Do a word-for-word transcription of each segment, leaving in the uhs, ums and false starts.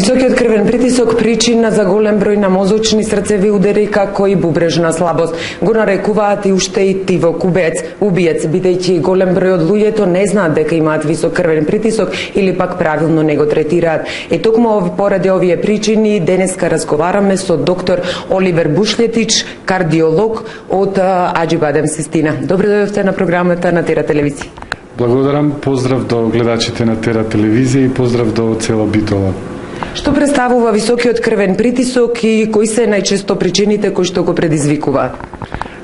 Високиот крвен притисок причина за голем број на мозочни срцеви удари како и бубрежна слабост. Го нарекуваат и уште и тивокубец, убиец, бидејќи голем број од луѓето не знаат дека имаат висок крвен притисок или пак правилно не го третираат. Е токму поради овие причини денеска разговараме со доктор Оливер Бушлетич, кардиолог од Аџибадем Систина. Добро дојдовте на програмата на Тера телевизија. Благодарам, поздрав до гледачите на Тера телевизија и поздрав до цела Битола. Што представува високиот крвен притисок и кои се најчесто причините кои што го предизвикуваат?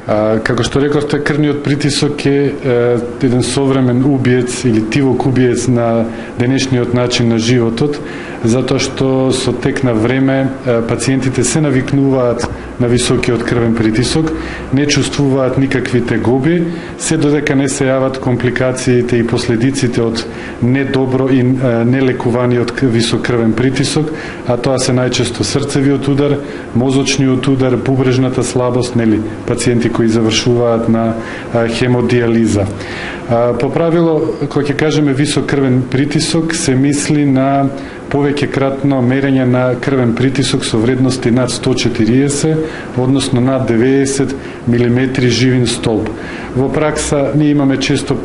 А, како што рековте, крвниот притисок е, е еден современ убиец или тивок убиец на денешниот начин на животот, затоа што со тек на време пациентите се навикнуваат на високиот крвен притисок, не чувствуваат никакви тегоби, се додека не се јават компликациите и последиците од недобро и нелекуваниот висок крвен притисок, а тоа се најчесто срцевиот удар, мозочниот удар, бубрежната слабост, нели, пациенти кои завршуваат на хемодиализа. По правило, кога ќе кажеме висок крвен притисок, се мисли на повеќе кратно мерење на крвен притисок со вредности над сто и четириесет, односно над деветдесет милиметри живин столб. Во пракса ние имаме често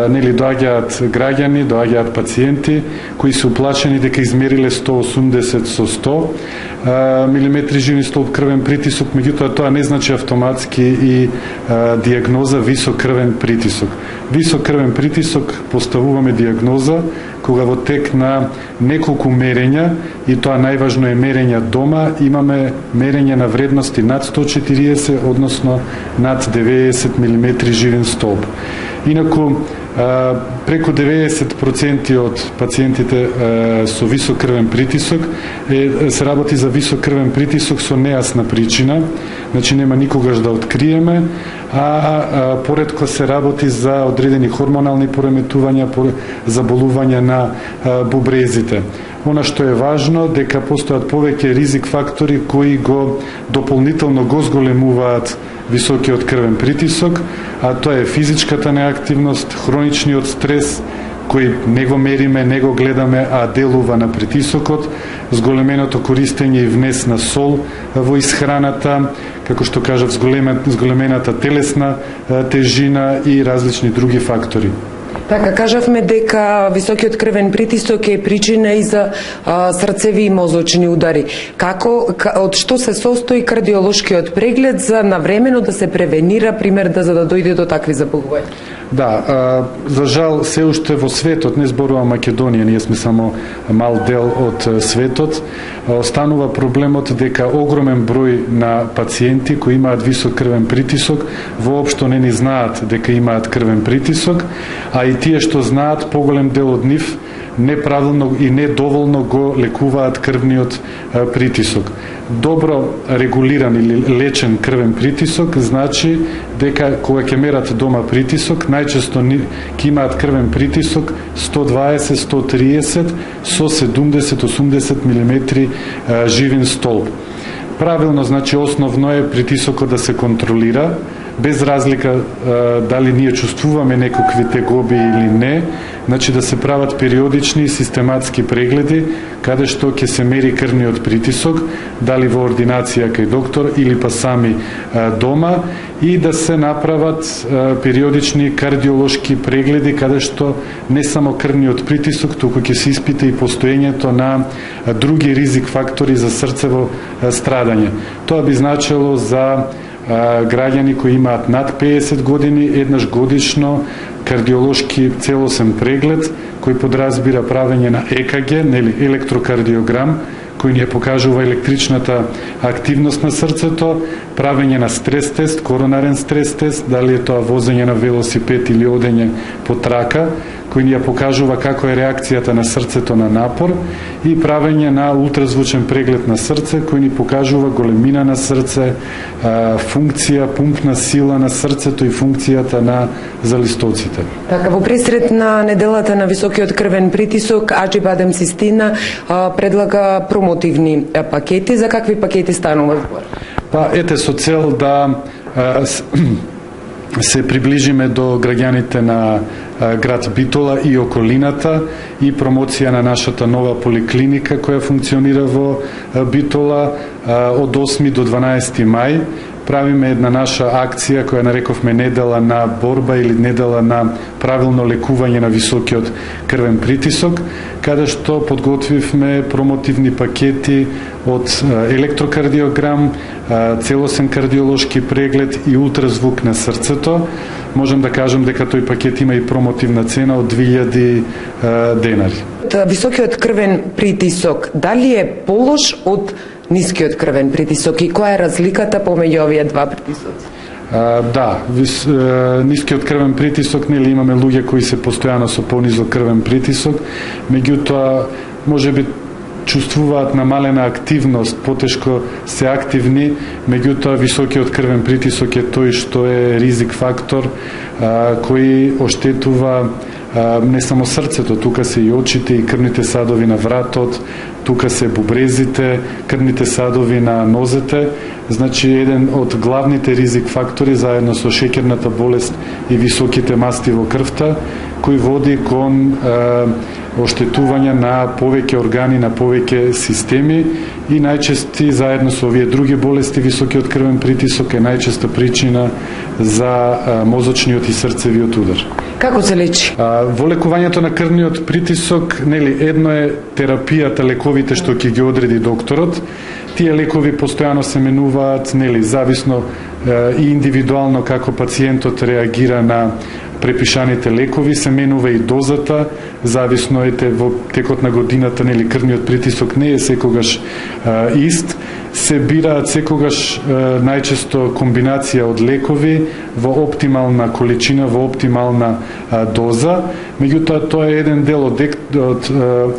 нели доаѓаат граѓани, доаѓаат пациенти кои се уплашени дека измериле сто и осумдесет со сто милиметри живин столб крвен притисок, меѓутоа тоа не значи автоматски и а, диагноза висок крвен притисок. Висок крвен притисок поставуваме диагноза кога во тек на неколку мерења, и тоа најважно е мерења дома, имаме мерење на вредности над сто и четириесет, односно над деветдесет милиметри живин столб. Инаку, преку деветдесет проценти од пациентите со висок крвен притисок е, се работи за висок крвен притисок со нејасна причина, значи нема никогаш да откриеме, а, а поредко се работи за одредени хормонални пореметувања, заболувања на а, бубрезите. Она што е важно, дека постојат повеќе ризик фактори кои го дополнително го зголемуваат високиот крвен притисок, а тоа е физичката неактивност, хроничниот стрес, кој не го мериме, не го гледаме, а делува на притисокот, зголеменото користење и внес на сол во исхраната, како што кажав, зголемената телесна тежина и различни други фактори. Така, кажавме дека високиот крвен притисок е причина и за а, срцеви и мозочни удари. Како, од што се состои кардиолошкиот преглед за навремено да се превенира, пример, да за да дојде до такви заболувања? Да, а, за жал се уште во светот, не зборува Македонија, ние сме само мал дел од светот, останува проблемот дека огромен број на пациенти кои имаат висок крвен притисок воопшто не ни знаат дека имаат крвен притисок, а и тие што знаат, поголем дел од нив неправилно и недоволно го лекуваат крвниот притисок. Добро регулиран или лечен крвен притисок значи дека кога ќе мерат дома притисок, најчесто ќе имаат крвен притисок сто дваесет до сто триесет со седумдесет до осумдесет милиметри живин столб. Правилно, значи основно е притисокот да се контролира, без разлика дали ние чувствуваме некакви тегоби или не, значи да се прават периодични и систематски прегледи, каде што ќе се мери крвниот притисок, дали во ординација кај доктор или па сами дома, и да се направат периодични кардиолошки прегледи, каде што не само крвниот притисок, туку ќе се испита и постоењето на други ризик фактори за срцево страдање. Тоа би значило за граѓани кои имаат над пеесет години, еднаш годишно кардиолошки целосен преглед, кој подразбира правење на Е К Г, нели електрокардиограм, кој ни ја покажува електричната активност на срцето, правење на стрес тест, коронарен стрес тест, дали е тоа возење на велосипед или одење по трака, кој ни ја покажува како е реакцијата на срцето на напор, и правење на ултразвучен преглед на срце, кој ни покажува големина на срце, функција, пумпна сила на срцето и функцијата на залистоците. Така, во пресред на неделата на високиот крвен притисок, Аџибадем Систина предлага промотивни пакети. За какви пакети станува збор? Па, ете, со цел да се приближиме до граѓаните на град Битола и околината и промоција на нашата нова поликлиника која функционира во Битола од осми до дванаесети мај. Правиме една наша акција која нарековме недела на борба или недела на правилно лекување на високиот крвен притисок, каде што подготвивме промотивни пакети од електрокардиограм, целосен кардиолошки преглед и ултразвук на срцето. Можем да кажем дека тој пакет има и промотивна цена од две илјади денари. Високиот крвен притисок, дали е полош од нискиот крвен притисок и која е разликата помеѓу овие два притисоци? А, да, вис, а, нискиот крвен притисок, нели имаме луѓе кои се постојано со понизок крвен притисок, меѓутоа можеби чувствуваат намалена активност, потешко се активни, меѓутоа високиот крвен притисок е тој што е ризик фактор а, кој оштетува а, не само срцето, тука се и очите и крвните садови на вратот, тука се бубрезите, крвните садови на нозете. Значи, еден од главните ризик фактори заедно со шеќерната болест и високите масти во крвта, кој води кон е, оштетување на повеќе органи, на повеќе системи и најчести заедно со овие други болести високиот крвен притисок е најчеста причина за е, мозочниот и срцевиот удар. Како се лечи? А, во лекувањето на крвниот притисок, нели, едно е терапијата, лековите што ќе ги одреди докторот. Тие лекови постојано се менуваат, нели, зависно е, и индивидуално како пациентот реагира на препишаните лекови, се менува и дозата, зависно ете во текот на годината, нели, крвниот притисок не е секогаш е, ист, се бираат секогаш е, најчесто комбинација од лекови во оптимална количина, во оптимална е, доза, меѓутоа тоа е еден дел од, од, од,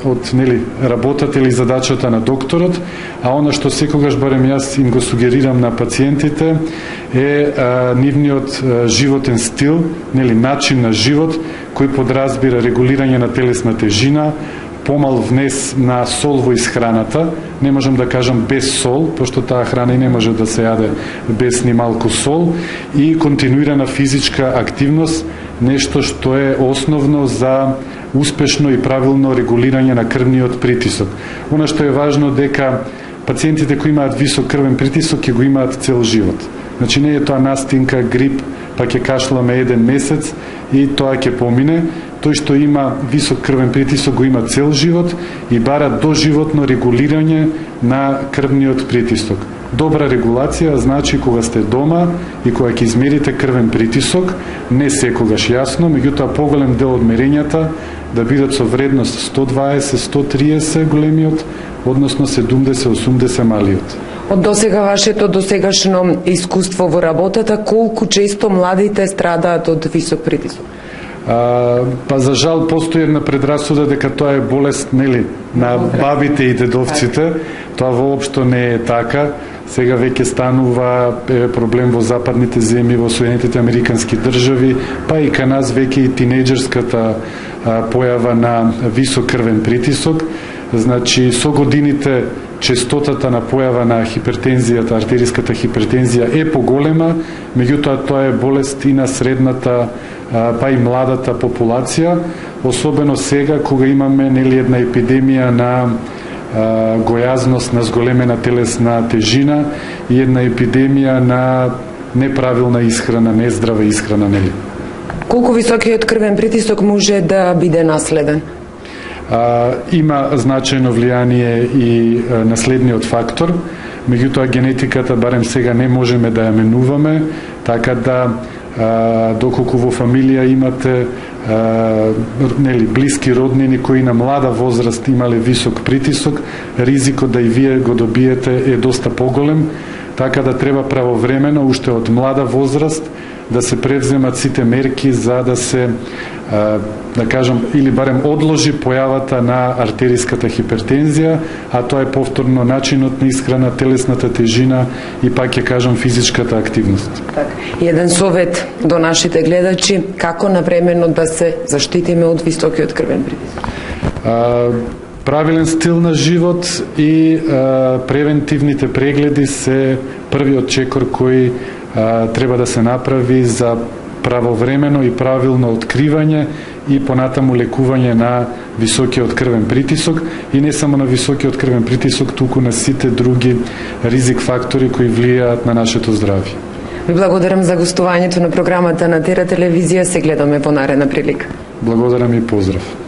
од нели, работата или задачата на докторот, а она што секогаш барем јас им го сугерирам на пациентите е а, нивниот а, животен стил, нели, начин на живот кој подразбира регулирање на телесна тежина, помал внес на сол во исхраната, не можам да кажам без сол, пошто таа храна и не може да се јаде без ни малку сол, и континуирана физичка активност, нешто што е основно за успешно и правилно регулирање на крвниот притисок. Она што е важно дека пациентите кои имаат висок крвен притисок ќе го имаат цел живот. Значи не е тоа настинка, грип, па ќе кашламе еден месец и тоа ќе помине. Тој што има висок крвен притисок го има цел живот и бара доживотно регулирање на крвниот притисок. Добра регулација значи кога сте дома и кога ќе измерите крвен притисок, не секогаш јасно, меѓутоа поголем дел од мерењата да бидат со вредност сто дваесет до сто триесет големиот, односно седумдесет до осумдесет малиот. Од досега вашето досегашно искуство во работата, колку често младите страдаат од висок притисок? А, па за жал постои една предрасуда дека тоа е болест, нели, на бабите и дедовците. Тоа воопшто не е така. Сега веќе станува е, проблем во западните земји, во Соединетите американски држави, па и кај нас веќе и тинејџерската а, појава на висок крвен притисок. Значи, со годините честотата на појава на хипертензијата, артериската хипертензија е поголема, меѓутоа тоа е болест и на средната, па и младата популација, особено сега кога имаме, нели, една епидемија на а, гојазност, на зголемена телесна тежина и една епидемија на неправилна исхрана, нездрава исхрана, нели. Колку високиот крвен притисок може да биде наследен? А, има значајно влијание и а, наследниот фактор, меѓутоа генетиката барем сега не можеме да ја менуваме, така да а, доколку во фамилија имате а, нели, блиски роднини кои на млада возраст имале висок притисок, ризикот да и вие го добиете е доста поголем, така да треба правовремено, уште од млада возраст, да се превземат сите мерки за да се, да кажам, или барем одложи појавата на артериската хипертензија, а тоа е повторно начинот на исхрана, телесната тежина и пак ќе кажам физичката активност. Так. Еден совет до нашите гледачи, како навремено да се заштитиме од високиот крвен притисок? А, правилен стил на живот и а, превентивните прегледи се првиот чекор кој а, треба да се направи за правовремено и правилно откривање и понатаму лекување на високиот крвен притисок и не само на високиот крвен притисок, туку на сите други ризик фактори кои влијаат на нашето здравје. Ви благодарам за гостувањето на програмата на Тера телевизија. Се гледаме по наредна прилика. Благодарам и поздрав.